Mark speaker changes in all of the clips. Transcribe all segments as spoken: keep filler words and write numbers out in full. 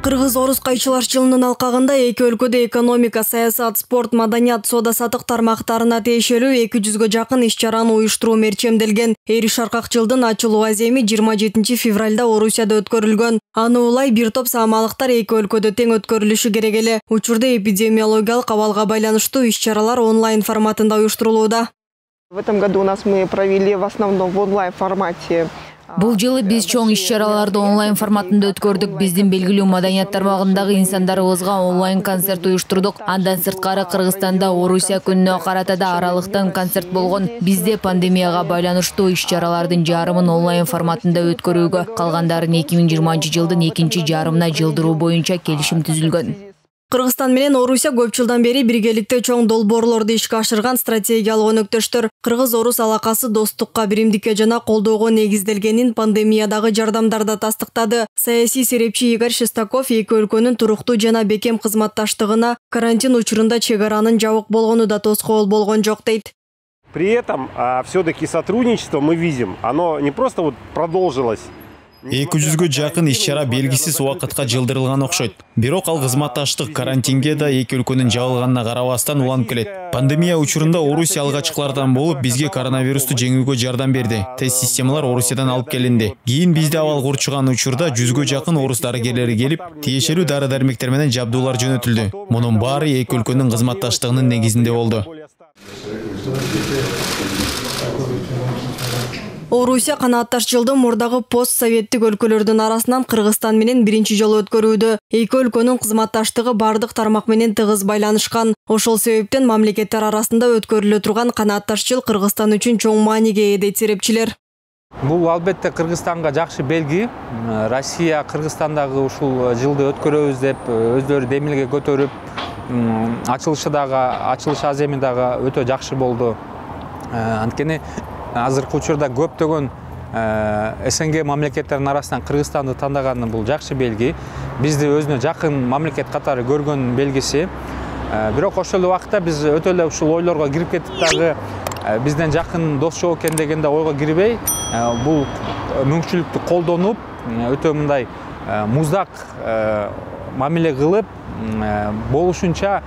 Speaker 1: Кыргыз-орус кайчылаш жылынын алкагында эки өлкөдө экономика, саясат, спорт, маданият, соода-саттык тармактарына тиешелүү эки жүзгө жакын иш-чараны уюштуруу мерчемделген. Эри шаркак жылдын ачылуу аземи жыйырма жетинчи февралда Орусияда өткөрүлгөн. Аны улай бир топ саамалыктар эки өлкөдө тең өткөрүлүшү керек эле. Учурда эпидемиологиялык абалга байланыштуу иш-чаралар онлайн форматында уюштурулууда.
Speaker 2: В этом году у нас мы провели в основном в онлайн формате.
Speaker 3: Бул жылы биз чоң иш-чараларды онлайн форматында өткөрдүк. Биздин белгилүү маданият тармагындагы инсандарыбызга онлайн концерт уюштурдук. Андан сырткары Кыргызстанда Орусия күнүнө карата да аралыктан концерт болгон. Бизде пандемияга байланыштуу иш-чаралардын жарымын онлайн форматында өткөрүүгө, калгандарын эки миң жыйырманчы жылдын экинчи жарымына жылдыруу боюнча келишим түзүлгөн.
Speaker 1: Кыргызстан менен Орусия көп жылдан бери биргеликте чоң долбоорлорду ишке ашырган стратегиялык өнөктөштөр. Кыргыз-орус алакасы достукка, биримдикке жана колдоого негизделгенин пандемиядагы жардамдарда тастыктады. Саясий серепчи Игорь Шестаков эки өлкөнүн туруктуу жана бекем кызматташтыгына карантин учурунда чек аранын жабык болгону да тоскоол болгон жок дейт.
Speaker 4: При этом все-таки сотрудничество мы видим, оно не просто вот продолжилось.
Speaker 5: эки жүзгө жакын иш-чара белгисиз убакытка жылдырылган окшойт. Бирок ал кызматташтык карантинге да эки өлкөнүн жабылганына карабастан уланып келет. Пандемия учурунда Орусия алгачкылардан болуп бизге коронавирусту жеңүүгө жардам берди. Тест системалар Орусиядан алып келинди. Кийин бизде абал курчуган учурда жүзгө жакын орус дарыгерлери келип, тиешелүү дары-дармектер менен жабдуулар жөнөтүлдү. Мунун баары эки өлкөнүн кызматташтыгынын негизинде болду.
Speaker 1: Орусия канаатташ жылды мурдагы пост-советтик өлкөлөрдүн арасынан Кыргызстан менен биринчи жолу өткөрүүдө. Эки өлкөнүн кызматташтыгы бардык тармак менен тыгыз байланышкан. Ошол себептен мамлекеттер арасында өткөрүлө турган канаатташ жыл Кыргызстан үчүн чоң мааниге ээ дейт серепчилер.
Speaker 6: Бул албетте Кыргызстанга жакшы белги. Россия Кыргызстандагы ушул жылды өткөрөбүз деп өздөрү демилге көтөрүп, ачылышы дагы, ачылыш аземи дагы өтө жакшы болду. Анткени азыркы учурда көптөгөн СНГ мамлекеттеринин арасынан Кыргызстанды тандаганы бул жакшы белги. Бизди өзүнө жакын мамлекет катары көргөн белгиси. Бирок ошол эле убакытта биз өтө эле ушул ойлорго кирип кетип дагы бизден жакын дос жок экен дегенде ойго кирбей, бул мүмкүнчүлүктү колдонуп, өтө мындай муздак мамиле кылып, болушунча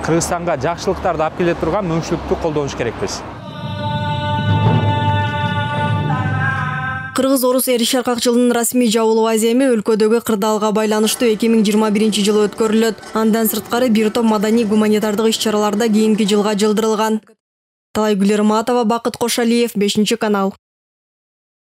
Speaker 6: Кыргызстанга жакшылыктарды алып келе турган мүмкүнчүлүктү колдонуш керекпиз.
Speaker 1: Кыргыз-орус эри шаркак жылынын расмий жабылуу аземи өлкөдөгү кырдаалга байланыштуу эки миң жыйырма биринчи жылы өткөрүлөт. Андан сырткары бир топ маданий гуманитардык иш-чаралар да кийинки жылга жылдырылган. Талайгүл Ирматова, Бакыт Кошалиев, бешинчи канал.